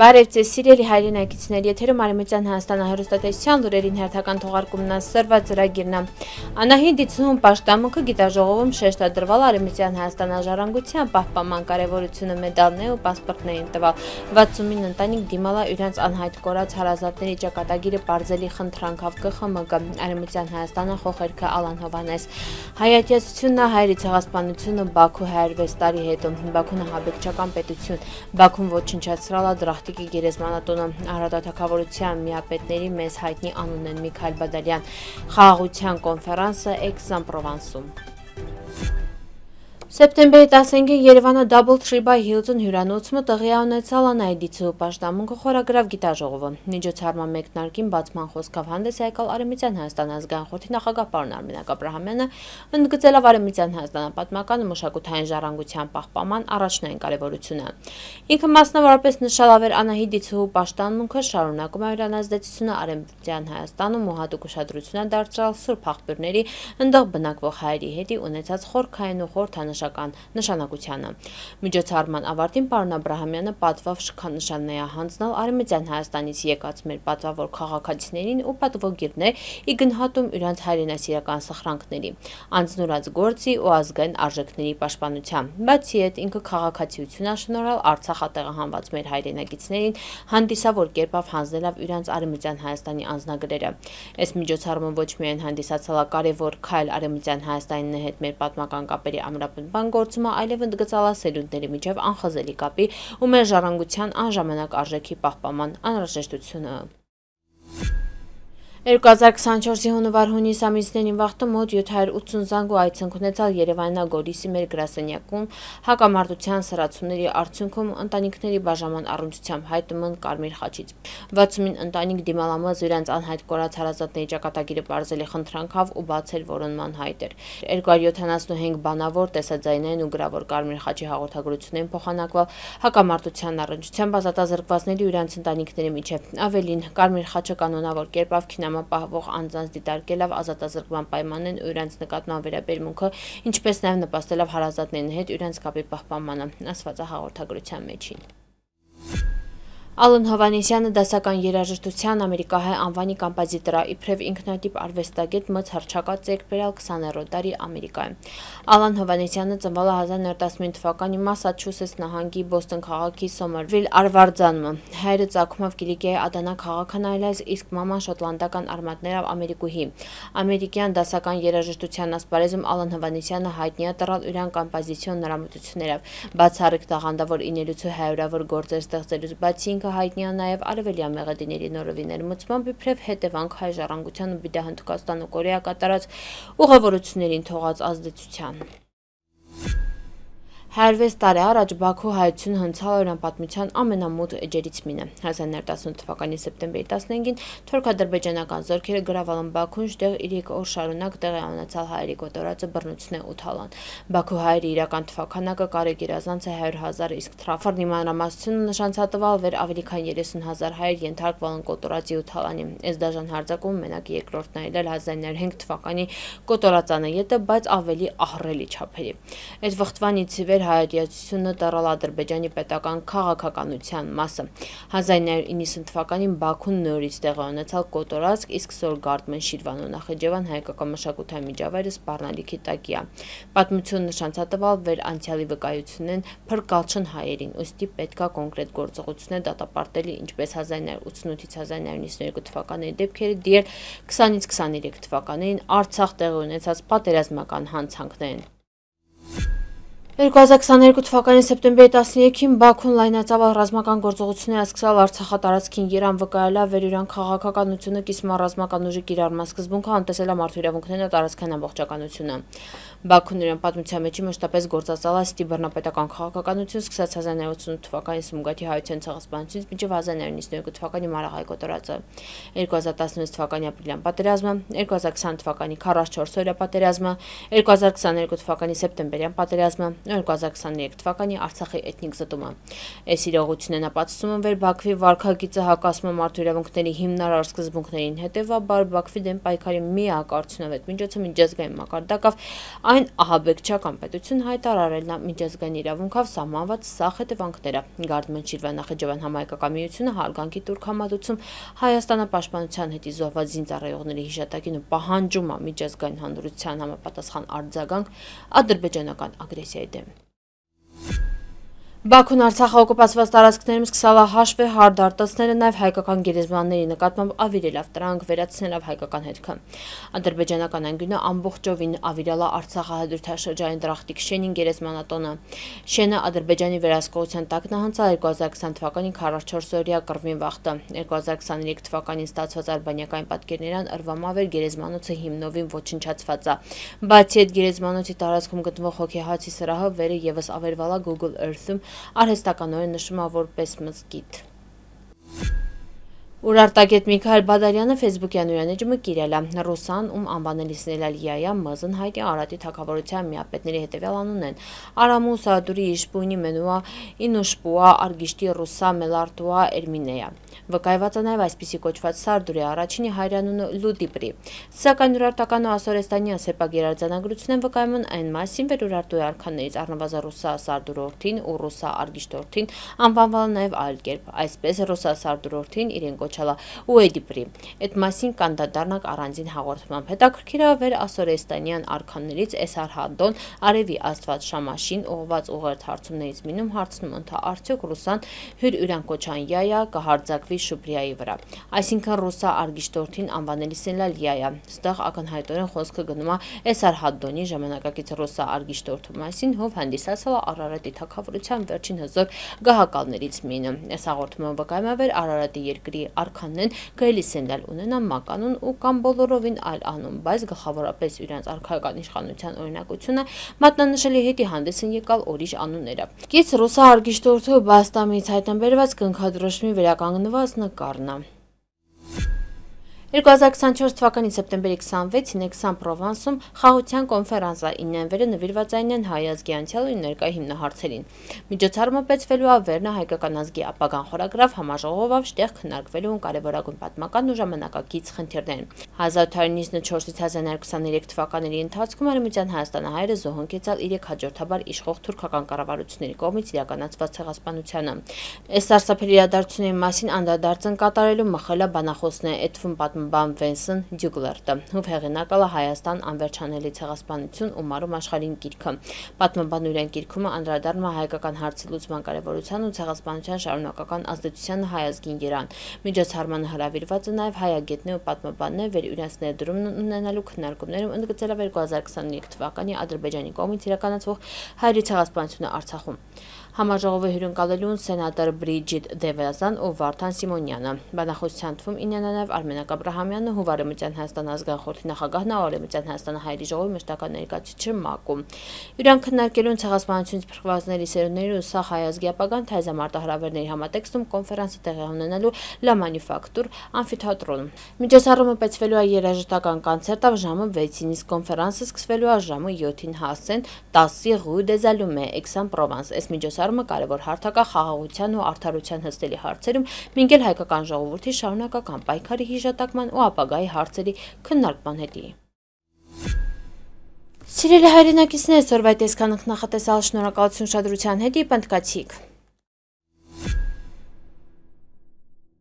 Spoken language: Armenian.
Բարև ձեզ սիրելի հայրենակիցներ, եթերում Արևմտյան Հայաստանի հեռուստատեսության լուրերին հերթական թողարկումն սրված ծրագիրն է։ Անահիտ Դիցուն պաշտամունքը գիտաժողովում շեշտադրվել Արևմտյան Հայաստանի ժառանգության պահպանման կարևորությունը մեդալներ ու պասպորտներին տվալ։ 69 ընտանիք դիմալա իրենց անհայտ կորած հարազատների ճակատագիրը բարձելի խնդրանքով ԿԽՄԳ Արևմտյան Հայաստանը խոխերքը Ալան Հովանես։ Հայատյացությունը հայերի ցեղասպանությունը Բաքու 106 տարի հետո Բաքուն հաբեկչական պետություն Բաքուն ոչնչացրալ Դրախտիկի գերեզմանատունը Արարատաթագավորության միապետների մեզ հայտնի անունն են Միքայել Բադալյան, խաղաղության կոնֆերանսը Aix-en-Provence-ում։ Սեպտեմբերի 15-ին Երևանը Double Tree by Hilton հյուրանոցում տեղի ունեցավ Անահիտ Դիցու պաշտամունքը խորագրավ գիտաժողովը։ Միջոցառման մեկնարկին բացման խոսքով հանդես եկալ Արևմտյան Հայաստանի ազգային խորհրդի նախագահ պարոն Արմենակ Աբրահամյանը, ընդգծելով Արևմտյան Հայաստանի պատմական ու մշակութային ժառանգության պահպանման առաջնային կարևորությունը։ Ինքը մասնավորապես նշալավեր Անահիտ Դիցու պաշտամունքը շարունակում է իր անազդեցությունը Արևմտյան Հայաստանում ու հատուկ ուշադրություն դարձրալ սուրբ աղբյուրների ընդեղ բնակվող հայերի հետ ունեցած խորքային ու խորհրդանշական նշանակությանը։ Միջոցառման ավարտին պարոն Աբրահամյանը պատվով շքանշաններ է հանձնել Արևմտյան Հայաստանից եկած մեր պատվավոր քաղաքացիներին ու պատվոգիրներ ի գնահատում իրենց հայրենասիրական սխրանքների, անձնուրաց գործի ու ազգային արժեքների պաշտպանության։ Բացի այդ, ինքը քաղաքացիություն է շնորհալ Արցախատեղահանված մեր հայրենակիցներին հանդիսավոր կերպով հանձնելով իրենց Արևմտյան Հայաստանի անձնագրերը։ Այս միջոցառումը ոչ միայն հանդիսացել է կարևոր քայլ Արևմտյան Հայաստանի հետ մեր պատմական կապերի ամրապնդման գործումը, այլև ընդգծալ է սերունդների միջև անխզելի կապի ու մեր ժառանգության անժամանակ արժեքի պահպանման անհրաժեշտությունը։ 2024-ի հունվար-հունիս ամիսներին վաղտը մոտ 780 զանգ ու այցենք ունեցալ Երևաննա Գորիսի մեր գրասենյակում հակամարտության սրացումների արդյունքում ընտանիքների բաժանման առնչությամբ հայտում են Կարմիր խաչից։ 69 ընտանիք դիմալամազ իրենց անհայտ կորած հարազատների ճակատագիրը բարձելի խնդրանքով ու բացել որոնման հայտեր։ 275 բանավոր տեսաձայնային ու գրավոր Կարմիր խաչի հաղորդագրություններին փոխանակվել հակամարտության առնչությամբ ազատազրկվածների ու իրենց ընտանիքների միջև։ Ավելին, Կարմիր խաչը կանոնավոր կերպով պահվող անձանց դիտարկելով ազատազրկման պայմաններն ու իրենց նկատմամբ վերաբերմունքը, ինչպես նաև նպաստելով հարազատների հետ իրենց կապի պահպանմանը, ասված է հաղորդագրության մեջին։ Ալան Հովանեսյանը դասական երաժշտության ամերիկահայ անվանի կոմպոզիտոր է, իբրև ինքնատիպ արվեստագետ մց հռչակած ձեռք բերել 20-րդ դարի Ամերիկայում։ Ալան Հովանեսյանը ծնվել է 1915 թվականի Մասաչուսեթս նահանգի Բոստոն քաղաքի Սոմերվիլ արվարձանում։ Հայրը ծագումով Կիլիկիայի Ադանա քաղաքն այլայց, իսկ մաման շոտլանդական արմատներով ամերիկուհի։ Ամերիկյան դասական երաժշտության ասպարեզում Ալան Հովանեսյանը հայտնի է տռալ իրան կոմպոզիցիոն նրամտություններով, բացառիկ տաղանդավոր իներուցու հարյուրավոր գործեր ստեղծելուց բացի հայտնի է նաև արևելյան մեղեդիների նորովի ներմուծմամբ իբրև հետևանք հայ ժառանգության ու Հնդկաստան ու Կորեա կատարած ուղևորություններին թողած ազդեցության։ 106 տարի առաջ Բաքու հայությունը հնցալ օրյան պատմության ամենամութ էջերից մինը։ 1918 թվականի սեպտեմբերի 15-ին թուրք-ադրբեջանական զորքերը գրավել են Բաքուն, որտեղ 3 օր շարունակ տեղի ունեցալ հայերի կոտորածը բռնությունն ու թալան։ Բաքու հայերի իրական թվաքանակը կարեգ իրազանց է 100,000, իսկ թրաֆրն իմանրամասնությունը նշանցատվալ վեր ավելի քան 30,000 հայեր ենթարկվել են կոտորածի ու թալանի։ Այս դաժան հարձակում մենակ երկրորդն է ելել 1905 թվականի կոտորածանը ետը, բայց ավելի ահռելի չափերի։ Այդ վխտվանից վեր հայատյացությունը դառալ Ադրբեջանի պետական քաղաքականության մասը։ 1990 թվականին Բաքուն նորից տեղի ունեցալ կոտորածք, իսկ Սորգարդմեն Շիրվան ու Նախիջևան հայկական մշակութային միջավայրը սպառնալիքի տակ է։ Պատմություն նշանցատվալ վեր անցյալի վկայությունն փրկալ չն հայերին, ուստի պետքա կոնկրետ գործողություններ դատապարտելի, ինչպես 1988-ից 1992 թվականների դեպքերը դիել 20-ից 23 թվականներին Արցախ տեղի ունեցած պատերազմական հանցանքներին։ 2022 թվականի սեպտեմբերի 13-ին Բաքուն լայնածավալ ռազմական գործողություններ սկսել Արցախատարածքին Երան վկայելա վեր իրան քաղաքականությունը կիսմա ռազմական ուժի կիրառման սկզբունքը անտեսել է մարդու իրավունքներն ու տարածքային ամբողջականությունը։ Բաքուն իրան պատմության մեջ մշտապես գործածել է ստիբռնապետական քաղաքականություն սկսած 1988 թվականի Սումգաթի հայության ցեղասպանությունից մինչև 1992 թվականի Մարաղայի կոտորածը, 2016 թվականի ապրիլյան պատերազմը, 2020 թվականի 44-օրյա պատերազմը, 2022 թվականի սեպտեմբերյան պատերազմը, 2023 թվականի Արցախի էթնիկ զտումը։ Այս իրողությունն ապացուցում են Բաքվի վարքագիծը հակասում մարդու իրավունքների հիմնարար սկզբունքներին, հետևաբար Բաքվի դեմ պայքարի միակ արդյունավետ միջոցը միջազգային մակարդակով այն ահաբեկչական պետություն հայտարարելն է, միջազգային իրավունքով սահմանված սահ հետևանքները։ Գարդման Շիրվան Նախիջևան համահայկական միությունը հարգանքի տուրք համատուցում Հայաստանը պաշտպանության հետի զոհված զինծառայողների հիշատակին ու պահանջում է միջազգային հանրության համապատասխան արձագանք ադրբեջանական ագրեսիայի դեմ։ Բաքուն Արցախի օկուպացված տարածքներում սկսել է հաշվի հարդարտացնելը նաև հայկական գերեզմանների նկատմամբ ավիրելով դրանք վերացնելով հայկական հետքը։ Ադրբեջանական անկյունը ամբողջովին ավիրել է Արցախի հադրութաշրջանի Դրախտիկ շենին գերեզմանատոնը։ Շենը Ադրբեջանի վերահսկողության տակ նահանձել 2020 թվականի 44-օրյա կռվին վախտը։ 2023 թվականին ստացված արբանյակային պատկերներն Ըրվամավեր գերեզմանոցը հիմնովին ոչնչացված է։ Բացի այդ գերեզմանոցի տարածքում գտնվող հոգեհացի սրահը վերը ևս ավերվել է Google Earth-ում արհեստականորեն նշում է որպես մզկիթ։ Ուրարտագետ Միքայել Բադարյանը ֆեյսբուքյան ուրանեջումը կիրել է ռուսան, ում անվանելիս Լիայա մզն հայտի Արարատի թագավորության միապետների հետևյալ անուն են Արամու Սադուրի Իշպունի Մենուա Ինուշպուա Արգիշտի Ռուսա Մելարտուա Էրմինեя։ Վկայված է նաև այսպիսի կոչված Սարդուրի առաջինի հայրանունը Լուդիպրի։ Սակայն ուրարտական ու ասորեստանյան սեպագիր արձանագրությունն վկայում են այն մասին, որ ուրարտուի արքաներից առնվազն Ռուսա Սարդուրորդին ու Ռուսա Արգիշտորդին անվանվել նաև այլ կերպ, այսպես Ռուսա Սարդուրորդին իրեն կոչալա Ուեդիպրի։ Այդ մասին կանդադառնանք առանձին հաղորդմամբ։ Հետաքրքիր է վեր ասորեստանյան արքաներից Էսարհադոն արևի աստված Շամաշին ուղղված ուղերձ հարցումներից մնում հարցնում ընթա արդյոք Ռուսան հյուր ուրան կոչան Յայա կհարձակվի Շուպրիայի վրա։ Այսինքն Ռուսա Արգիշտորդին անվանելիս Լիայա։ Ստեղ ակնհայտորեն խոսքը գնում է Էսարհադոնի ժամանակակից Ռուսա Արգիշտորդու մասին, ով հանդիսացել է Արարատի թագավորության վերջին հզոր գահակալներից մինը։ Այս հաղորդումը վկայում է, որ Արարատի երկրի արքանն գայլիսենլալ ունենան մականուն ու կամ բոլորովին այլ անուն, բայց գլխավորապես իրենց արքայական իշխանության օրինակությունը մատնանշելի հետի հանդես են եկալ ուրիշ անունները։ Կից Ռուսա Արգիշտորդու բաստամից հայտնաբերված կնքադրոշմի վերականգնված նկարն է։ 2024 թվականի սեպտեմբերի 26-ին Aix-en-Provence-ում խաղաղության կոնֆերանսը իննենվերը նվիրված այն հայ ազգի անցյալ ու ներկա հիմնահարցերին։ Միջոցառումը բացվելու է Վերնա հայկական ազգի ապագան խորագրավ համաժողովով շտեղ քննարկվելու են կարևորագույն պատմական ու ժամանակակից խնդիրներ։ 1894-ից 1923 թվականների ընթացքում Արևմտյան Հայաստանը հայերը զոհ ընկեցալ իրեք հաջորդաբար իշխող թուրքական կառավարությունների կողմից իրականացված ցեղասպանությանը։ Այս սարսափելի իրադարձությունների մասին անդրադարձ կատարելու մխելը բանախոսն է Էդվում պատմաբան Վենսեն Դյուգլերտը, ով հեղինակել է Հայաստան անվերջանելի ցեղասպանություն ու մարում աշխարհին գիրքը։ Պատմաբանն իրեն գիրքում անդրադառնում է հայկական հարցի լուծման կարևորության ու ցեղասպանության շարունակական ազդեցությանը հայ ազգին երան։ Միջոցառմանը հրավիրված է նաև հայագետներ ու պատմաբաններ, որ իրենց ներդրումն ունենալու քննարկումներում ընդգծել է 2023 թվականի Ադրբեջանի կողմից իրականացվող հայերի ցեղասպանությունը Արցախում։ Համաժողովը հյուրընկալելու են սենատոր Բրիջիտ Դևազան ու Վարդան Սիմոնյանը։ Բանախոսության թվում իննն է նաև Արմենակ Աբրահամյանը, ով Արևմտյան Հայաստան ազգային խորհրդի նախագահն է, Արևմտյան Հայաստան հայերի ժողովի մշտական ներկայացուցիչը ՄԱԿ-ում։ Իրան քննարկելու են ցեղասպանությունից փրկվածների սերունդների ու սահ հայ ազգի ապագան թայզամարտահրավերների համատեքստում կոնֆերանսը տեղի ունենալու La Manufacture ամֆիթատրոնում։ Միջոցառումը բացվելու է երաժշտական կոնցերտով ժամը 6-ին, իսկ կոնֆերանսը սկսվելու է ժամը 7-ին հասցեն 10-ի Rue des Allumes, Aix-en-Provence։ Այս միջոցառումը կարևոր հարթակ է խաղաղության ու արդարության հստելի հարցերում, մինչև հայկական ժողովրդի շարունակական պայքարի հիշատակման ու ապագայի հարցերի քննարկման հետի։ Սիրելի հայրենակիցներ, այսօրվա տեսքանք նախատեսալ շնորհակալություն ուշադրության հետի պնդկացիք։